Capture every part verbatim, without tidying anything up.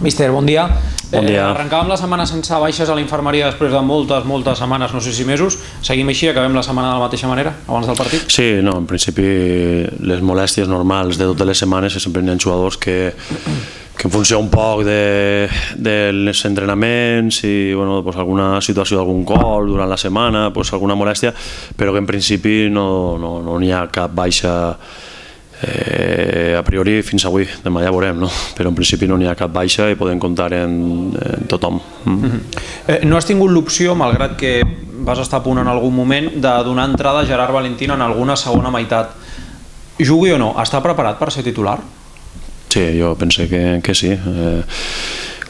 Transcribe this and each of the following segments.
Míster, bon dia. Bon dia. Eh, arrencàvem la setmana sense baixes a la infermeria després de moltes, moltes setmanes, no sé si mesos. Seguim així, acabem la setmana de la mateixa manera, abans del partit? Sí, no, en principi les molèsties normals de totes les setmanes, sempre hi ha jugadors que, que en funció un poc de, dels entrenaments i bueno, pues alguna situació d'algun gol durant la setmana, pues alguna molèstia, però que en principi no, no, no hi ha cap baixa Eh, a priori fins avui, demà ja veurem, no? Però en principi no n'hi ha cap baixa i podem comptar en, en tothom. Mm. Mm-hmm. eh, no has tingut l'opció, malgrat que vas estar a punt en algun moment, de donar entrada a Gerard Valentín en alguna segona meitat. Jugui o no, està preparat per ser titular? Sí, jo pense que, que sí. Eh,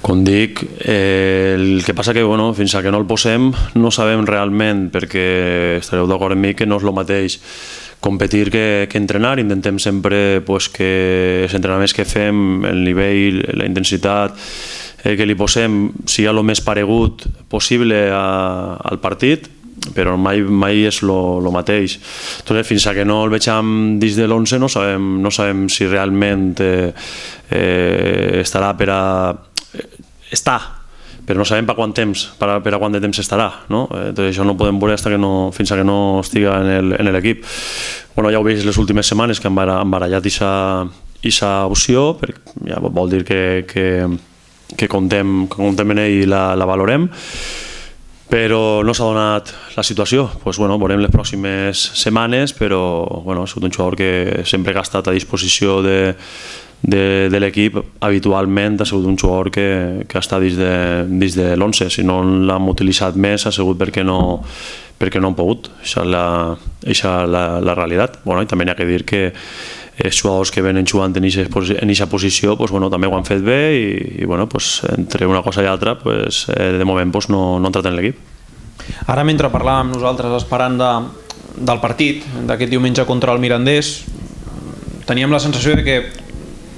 com dic, eh, el que passa que bueno, fins que no el posem no sabem realment, perquè estareu d'acord amb mi que no és el mateix competir que, que entrenar. Intentem sempre pues, que els entrenaments que fem, el nivell, la intensitat eh, que li posem sigui el més paregut possible a, al partit, però mai, mai és el mateix. Entonces, fins que no el vegem dins de l'onze no sabem, no sabem si realment eh, eh, estarà per a... està, però no sabem per quant temps, per a, per a quant de temps estarà, no? Entonces, això no ho podem veure hasta que no, fins que no estiga en l'equip. Bueno, ja ho veig les últimes setmanes que han barallat aquesta opció, perquè ja vol dir que, que, que contem, que contem en ell i la, la valorem, però no s'ha donat la situació. Pues, bueno, veurem les pròximes setmanes, però bueno, ha sigut un jugador que sempre que ha estat a disposició de de, de l'equip, habitualment ha sigut un jugador que, que està dins de, dins de l'onze. Si no l'hem utilitzat més ha sigut perquè no, perquè no han pogut. Això és la, això és la, la realitat. Bueno, i també hi ha que dir que els jugadors que venen jugant en aquesta posició pues, bueno, també ho han fet bé i, i bueno, pues, entre una cosa i altra pues, eh, de moment pues, no, no han entrat en l'equip. Ara, mentre parlàvem nosaltres esperant de, del partit d'aquest diumenge contra el Mirandés, teníem la sensació de que,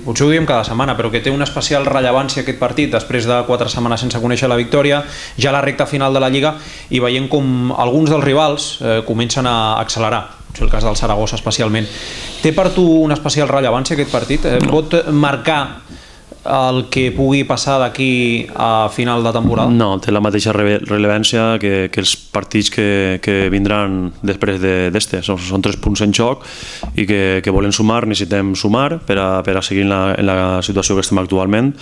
potser ho diem cada setmana, però que té una especial rellevància aquest partit després de quatre setmanes sense conèixer la victòria, ja la recta final de la Lliga, i veient com alguns dels rivals eh, comencen a accelerar, és el cas del Saragossa especialment. Té per tu una especial rellevància aquest partit? Eh, pot marcar el que pugui passar d'aquí a final de temporada? No, té la mateixa rellevància que, que els partits que, que vindran després d'este. Són, són tres punts en joc i que, que volen sumar, necessitem sumar per a, per a seguir en la, en la situació que estem actualment.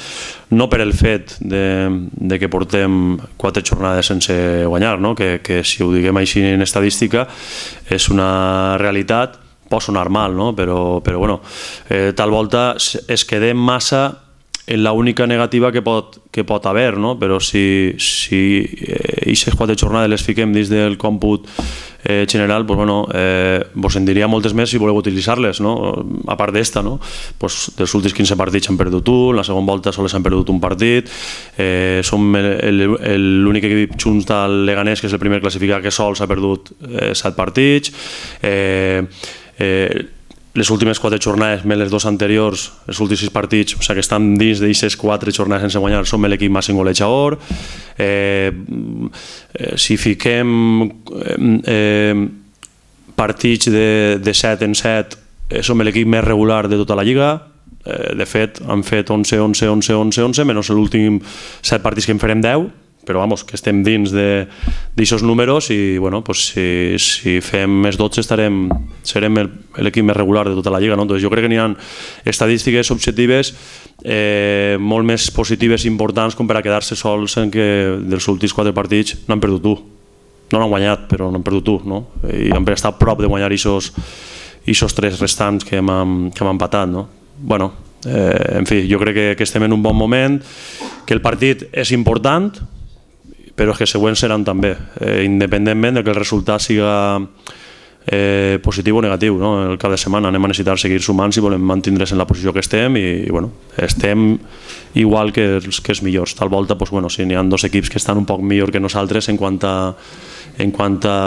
No per el fet de, de que portem quatre jornades sense guanyar, no? que, que si ho diguem així en estadística és una realitat, pot sonar mal, no? però, però bueno, eh, tal volta es quedem massa en l'única negativa que pot, que pot haver, no? Però si aquestes eh, quatre jornades les fiquem dins del còmput eh, general, pues, bueno, eh, vos en diria moltes més si voleu utilitzar-les, no? A part d'esta, no? Pues, dels últims quinze partits han perdut un, la segona volta sols han perdut un partit, eh, som l'únic equip junts del Leganés, que és el primer classificat, que sols ha perdut eh, set partits, eh, eh, les últimes quatre jornades, més les dos anteriors, els últims sis partits, o sigui que estan dins d'aquestes quatre jornades sense guanyar, som l'equip màxim golejador. Eh, eh, si fiquem eh, partits de, de set en set, eh, som l'equip més regular de tota la Lliga. Eh, de fet, han fet onze, onze, onze, onze, onze, menys l'últim set partits que en farem deu, però vamos, que estem dins d'aquests números i bueno, pues, si, si fem més dotze estarem, serem l'equip més regular de tota la Lliga, no? Entonces, jo crec que n'hi ha estadístiques objectives eh, molt més positives i importants com per a quedar-se sols en que dels últims quatre partits no han perdut un. No l'han guanyat, però no han perdut un, no? I han estat a prop de guanyar aquests tres restants que hem, que hem empatat, no? Bueno, eh, en fi, jo crec que, que estem en un bon moment, que el partit és important, però que els següents seran també, eh, independentment de que el resultat siga eh, positiu o negatiu, no? El cap de setmana anem a necessitar seguir sumant si volem mantindre's en la posició que estem i, i bueno, estem igual que els, que els millors. Tal volta, pues, bueno, si n'hi ha dos equips que estan un poc millor que nosaltres en quant a, en quant a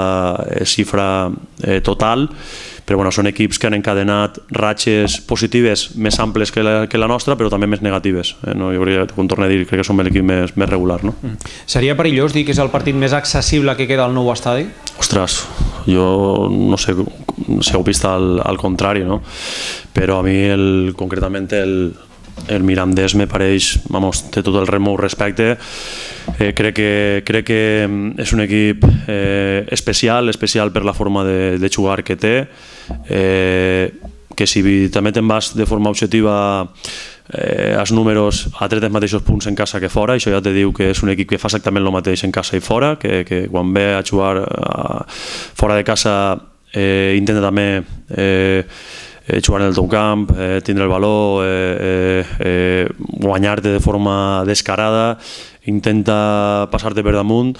eh, xifra eh, total, però bueno, són equips que han encadenat ratxes positives més amples que la, que la nostra, però també més negatives. Eh, no? Jo crec, com torno a dir, crec que som l'equip més, més regular. No? Mm. Seria perillós dir que és el partit més accessible que queda al nou estadi? Ostres, jo no sé si heu vist al, al contrari, no? Però a mi el, concretament el, el Mirandés me pareix, vamos, té tot el meu respecte. Eh, crec, que, crec que és un equip eh, especial, especial per la forma de, de jugar que té, eh, que si també te'n vas de forma objectiva eh, els números ha tret els mateixos punts en casa que fora, això ja te diu que és un equip que fa exactament el mateix en casa i fora, que, que quan ve a jugar a, fora de casa eh, intenta també eh, eh, jugar en el teu camp, eh, tindre el valor, eh, eh, eh, guanyar-te de forma descarada, intenta passar-te per damunt.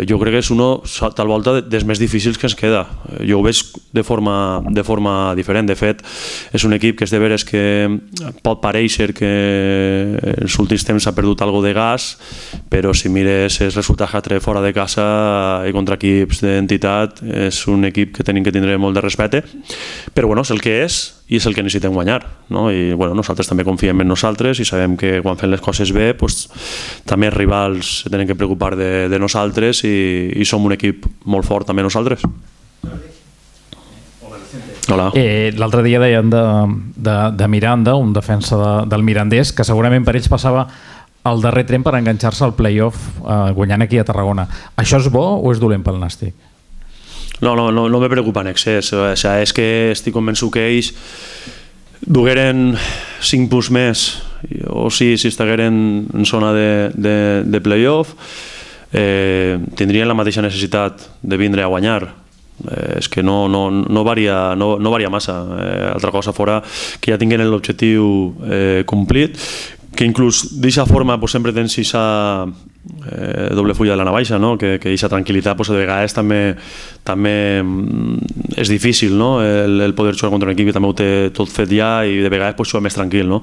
Jo crec que és uno, tal volta, dels més difícils que ens queda. Jo ho veig de forma, de forma diferent. De fet, és un equip que és de veres que pot parèixer que en els últims temps ha perdut algo de gas, però si mires els resultats que ha tret fora de casa i contra equips d'entitat, és un equip que tenim que tindre molt de respecte, però bueno, és el que és i és el que necessitem guanyar, no? I bueno, nosaltres també confiem en nosaltres i sabem que quan fem les coses bé, pues, també els rivals se tenen que preocupar de, de nosaltres i, i som un equip molt fort també nosaltres. Hola. Eh, L'altre dia deien de, de, de Miranda, un defensa de, del Mirandés, que segurament per ells passava el darrer tren per enganxar-se al play-off eh, guanyant aquí a Tarragona. Això és bo o és dolent pel Nàstic? No, no, no, no me preocupa en excés. O sea, és que estic convençut que ells dugueren cinc punts més o sí, si estigueren en zona de, de, de play-off, eh, tindrien la mateixa necessitat de vindre a guanyar. Eh, és que no, no, no, varia, no, no varia massa. Eh, altra cosa fora que ja tinguin l'objectiu eh, complit, que inclús d'aquesta forma pues, sempre tens aquesta eh, doble fulla de la navaixa, no? que aquesta tranquil·litat pues, de vegades també, també és difícil, no? el, el poder jugar contra un equip que també ho té tot fet ja i de vegades pues, jugar més tranquil. No?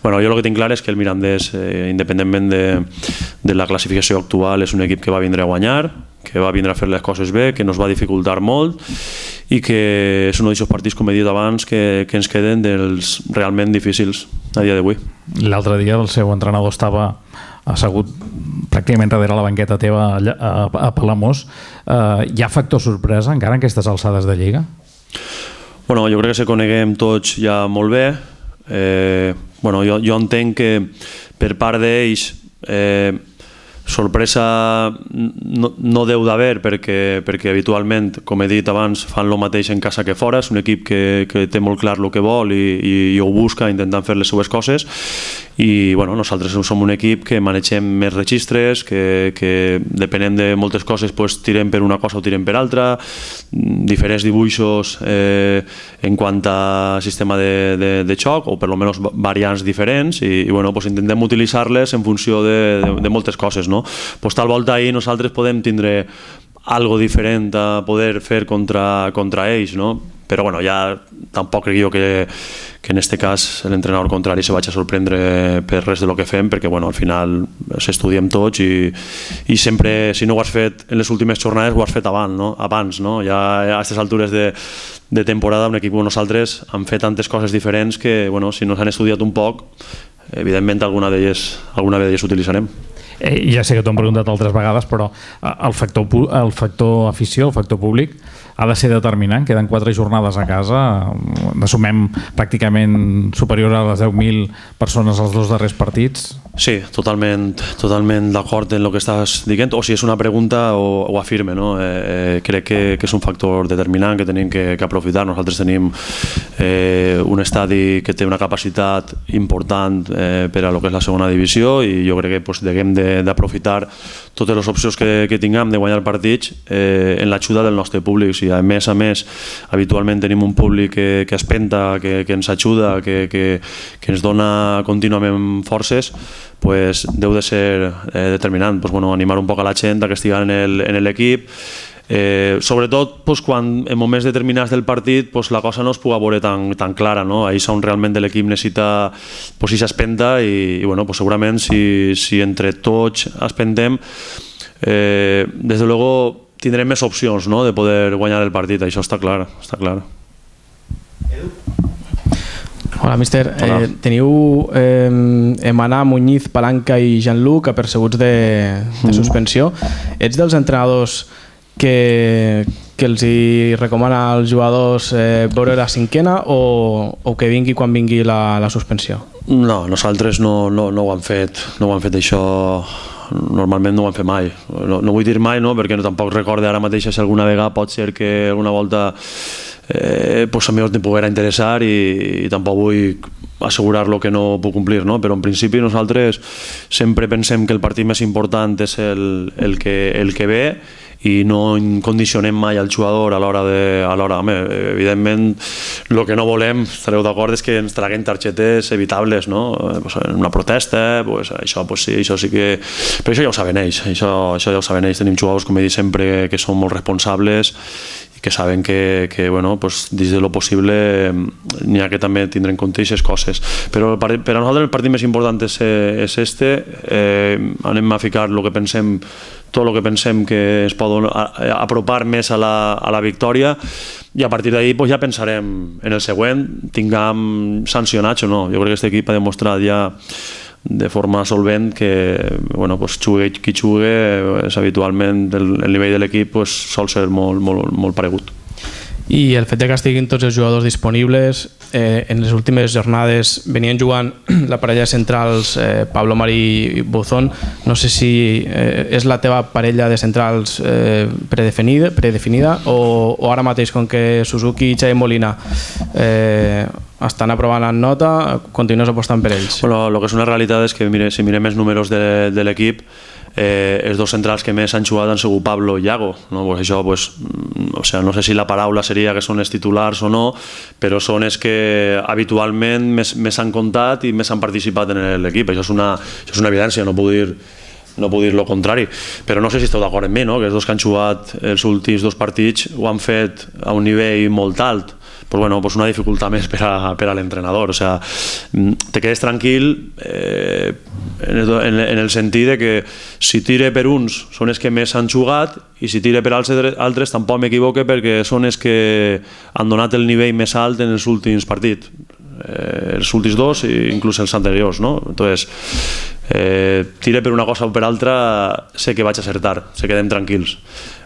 Bueno, jo el que tinc clar és que el Mirandés, eh, independentment de, de la classificació actual, és un equip que va vindre a guanyar, que va vindre a fer les coses bé, que nos va dificultar molt i que és un d'aquests partits, com he dit abans, que, que ens queden dels realment difícils a dia d'avui. L'altre dia el seu entrenador estava assegut pràcticament darrere la banqueta teva a, a Palamós. Eh, hi ha factor sorpresa encara en aquestes alçades de Lliga? Bueno, jo crec que se coneguem tots ja molt bé. Eh, bueno, jo, jo entenc que per part d'ells eh, sorpresa no, no deu d'haver perquè, perquè habitualment, com he dit abans, fan el mateix en casa que fora. És un equip que, que té molt clar el que vol i, i, i ho busca intentant fer les seues coses i bueno, nosaltres som un equip que manegem més registres, que, que depenent de moltes coses pues, tirem per una cosa o tirem per altra, diferents dibuixos eh, en quant a sistema de, de, de xoc o per almenys variants diferents i, i bueno, pues, intentem utilitzar-les en funció de, de, de moltes coses, no? Pues, tal volta ahir nosaltres podem tindre algo diferent a poder fer contra, contra ells, no? Però bueno, ja tampoc crec jo que, que en este cas l'entrenador contrari se vagi a sorprendre per res de lo que fem, perquè bueno, al final s'estudiem tots i, i sempre, si no ho has fet en les últimes jornades, ho has fet abans, no? Abans, no? Ja a aquestes altures de, de temporada un equip com nosaltres han fet tantes coses diferents que bueno, si no s'han estudiat un poc, evidentment alguna d'elles alguna d'elles utilitzarem. Eh, ja sé que t'ho han preguntat altres vegades, però el factor, el factor afició, el factor públic, ha de ser determinant. Queden quatre jornades a casa, n'assumem pràcticament superior a les deu mil persones als dos darrers partits. Sí, totalment, totalment d'acord en el que estàs dient, o si és una pregunta o, o afirme, no? Eh, crec que, que és un factor determinant que tenim que, que aprofitar. Nosaltres tenim eh, un estadi que té una capacitat important eh, per a lo que és la segona divisió i jo crec que pues, haguem d'aprofitar totes les opcions que, que tinguem de guanyar partits eh, en l'ajuda del nostre públic. Si a més a més habitualment tenim un públic que, que espenta, que, que ens ajuda, que, que, que ens dona contínuament forces, pues, deu de ser eh, determinant. Pues, bueno, animar un poc a la gent que estigui en l'equip. Eh, sobretot pues, quan en moments determinats del partit pues, la cosa no es puga veure tan, tan clara, no? Ahí és on realment l'equip necessita pues, si s'espenta i, i bueno, pues, segurament si, si entre tots espentem eh, des de luego tindrem més opcions, no? De poder guanyar el partit, això està clar, està clar. Hola, míster. Hola. Eh, teniu eh, Emaná, Muñiz, Palanca i Jean-Luc apercebuts de, de suspensió. Ets dels entrenadors que, que els hi recomana als jugadors eh, veure la cinquena o, o que vingui quan vingui la, la suspensió? No, nosaltres no, no, no ho hem fet, no ho hem fet això, normalment no ho hem fet mai. No, no vull dir mai, no, perquè no, tampoc recorde ara mateix si alguna vegada pot ser que alguna volta eh, pues a mi em poguera interessar i, i tampoc vull assegurar-lo que no puc complir, no? Però en principi nosaltres sempre pensem que el partit més important és el, el, que, el que ve i no condicionem mai al jugador a l'hora de... A l'hora, home, evidentment, el que no volem, estareu d'acord, és que ens traguen targetes evitables, no? Pues en una protesta, pues això, pues sí, això sí que... Però això ja ho saben ells, això, això ja ho saben ells. Tenim jugadors, com he dit sempre, que són molt responsables i que saben que, que bueno, pues, dins de lo possible n'hi ha que també tindre en compte aquestes coses. Però per, per a nosaltres el partit més important és, és este, eh, anem a ficar el que pensem, tot el que pensem que es pot apropar més a la, a la victòria i a partir d'ahir pues, ja pensarem en el següent, tinguem sancionats o no. Jo crec que aquest equip ha demostrat ja de forma solvent que bueno, pues, jugue qui jugue, és habitualment el, el nivell de l'equip pues, sol ser molt, molt, molt paregut. I el fet de que estiguin tots els jugadors disponibles, eh, en les últimes jornades venien jugant la parella centrals eh, Pablo Marí i Buzón. No sé si eh, és la teva parella de centrals eh, predefinida, predefinida o, o ara mateix, com que Suzuki i Xavi Molina eh, estan aprovant en nota, continues apostant per ells? Bueno, el que és una realitat és que mire, si mirem els números de, de l'equip, Eh, els dos centrals que més han jugat han sigut Pablo i Iago, no? Pues això, pues, o sea, no sé si la paraula seria que són els titulars o no, però són els que habitualment més, més han comptat i més han participat en l'equip. Això és una, això és una evidència, no puc dir no puc dir el contrari, però no sé si esteu d'acord amb mi, no? Que els dos que han jugat els últims dos partits ho han fet a un nivell molt alt. Pues bueno, pues una dificultat més per a, per a l'entrenador, o sea, te quedes tranquil eh, en, el, en el sentit de que si tire per uns són els que més han jugat i si tire per altres, altres tampoc m'equivoque perquè són els que han donat el nivell més alt en els últims partits, eh, els últims dos i inclús els anteriors, no? Entonces, eh, tire per una cosa o per altra, sé que vaig acertar, se quedem tranquils.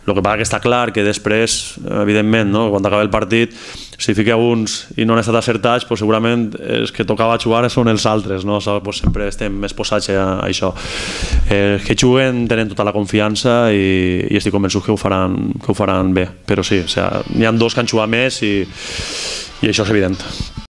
El que passa que està clar que després, evidentment, no? Quan acaba el partit, si fiqueu uns i no han estat acertats, pues segurament els que tocava jugar són els altres, no? Pues sempre estem exposats a això. Els que juguen tenen tota la confiança i, i estic convençut que ho faran, que ho faran bé, però sí, o sea, n'hi ha dos que han jugat més i, i això és evident.